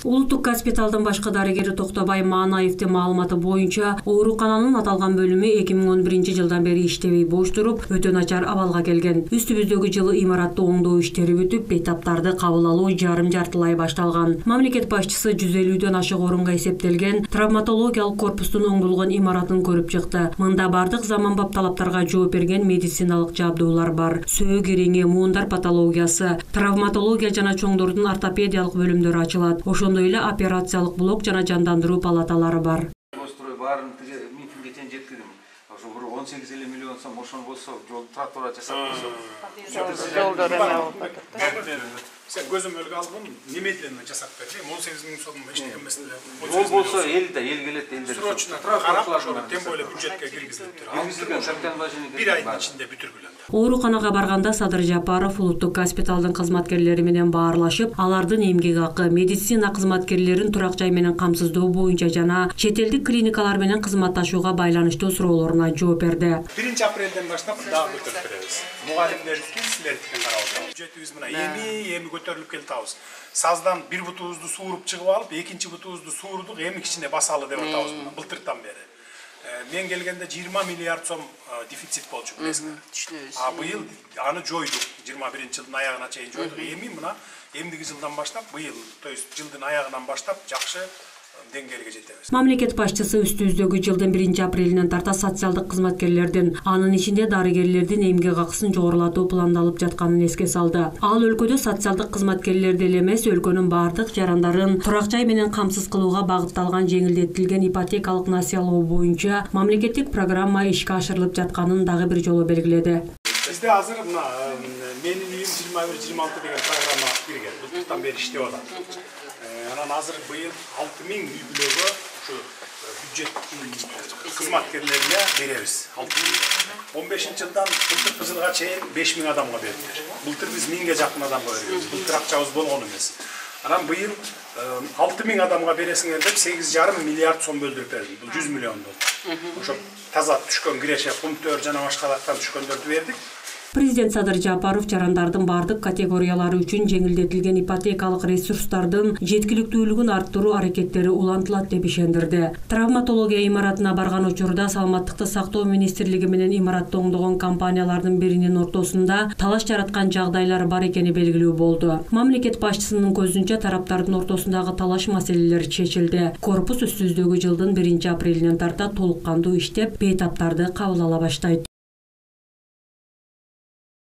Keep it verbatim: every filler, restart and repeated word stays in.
Улуттук госпиталдын башкы дарыгери Токтобай Манаевдин маалыматы боюнча, оорукананын аталган бөлүмү эки миң он биринчи жылдан бери иштебей бош туруп, өтө начар абалга келген. Үстүбүздөгү жылы имаратты оңдоо иштери бүтүп, бейтаптарды кабыл алуу жарым-жартылай башталган. Мамлекет башчысы жүз элүүдөн ашык орунга эсептелген травматологиялык корпустун оңдолгон имаратын көрүп чыкты. Мында бардык заманбап талаптарга жооп берген медициналык жабдуулар бар. Сөөк ириңи, муундар патологиясы, травматология жана чоңдордун ортопедиялык бөлүмдөрү ачылат. Ошондой эле операциялык блок жана жандандыруу палаталары бар. Построй баарын минтинге чейин жеткирдим. Ошо бир он сегиз элүү миллион сом ошону болсо, жол тротуар жасап койсок. Жолдор эме болуп атат. Sen gözüm ölge aldım, немедленно жасап берди. он сегиз миң сом эчтеке эмес эле. Ол болсо эл да эл келет, элдер. Срочно карап, ошону тем более бюджетке киргизилиптир. Бир айдын ичинде бүтүргүлө. Ооруканага барганда Садыр Жапаров улуттук госпиталдын кызматкерлери менен баарлашып, алардын эмгек акы, медицина кызматкерлерин турак жай менен камсыздоо боюнча жана чет элдик клиникалар менен кызматташууга байланыштуу суроолоруна жооп берди. биринчи апрелден баштап дагы көтөрүп беребиз. Мугалимдердики силердикин карап атабыз. Бюджетибиз мына эми эми көтөрүлүп келатабыз. Саздан бир бутубузду сууруп чыгып алып, экинчи бутубузду суурдук, эми кичине басалы деп атабыз мына былтыртан бери. Мен келгенде жыйырма миллиард сом дефицит болчу билесиңер. А быйыл аны жойдук. жыйырма биринчи жылдын аягына чейин жойдук. Эми мына эмдиги жылдан баштап быйыл, то есть жылдын аягынан баштап жакшы деңгээлге жетебиз. Мамлекет башчысы үстүбүздөгү жылдын биринчи апрелинен тарта социалдык кызматкерлердин, анын ичинде дарыгерлердин эмгек акысын жогорулатуу пландалып жатканын эске салды. Ал өлкөдө социалдык кызматкерлерди эле эмес, өлкөнүн бардык жарандарын турак жай менен камсыз кылууга багытталган жеңилдетилген ипотекалык несиелоо боюнча мамлекеттик программа ишке ашырылып жатканын дагы бир жолу белгиледи. Бизде азыр мына менин үйүм жыйырма бир жыйырма алты деген программа кирген. Былтыртан бери иштеп атат. Анан азыр быйыл алты миң үй бүлөгө ушу бюджет кызматкерлерине беребиз. он бешинчи жылдан былтыркы жылга чейин беш миң адамга бердиler. Былтыр биз миңге жакын адамга бергенбиз. Былтыр акчабыз болгон эмес. Анан быйыл алты миң адамга бересиңер деп сегиз жарым миллиард сом бөлдүрүп бердик. Бул жүз миллион болду. Ошо таза түшкөн киреше, пункттөр жана башкалардан түшкөндөрдү бердик. Президент Садыр Жапаров жарандардын бардык категориялары үчүн жеңилдетилген ипотекалык ресурстардын жеткиликтүүлүгүн арттыруу аракеттери улантылат деп ишендирди. Травматология имаратына барган учурда Саламаттыкты сактоо министрлиги менен имаратты оңдогон компаниялардын биринин ортосунда талаш жараткан жагдайлар бар экени белгилүү болду. Мамлекет башчысынын көзүнчө тараптардын ортосундагы талаш маселелери чечилди. Корпус үстүбүздөгү жылдын биринчи апрелинен тарта толук кандуу иштеп, бейтаптарды кабыл ала баштайт.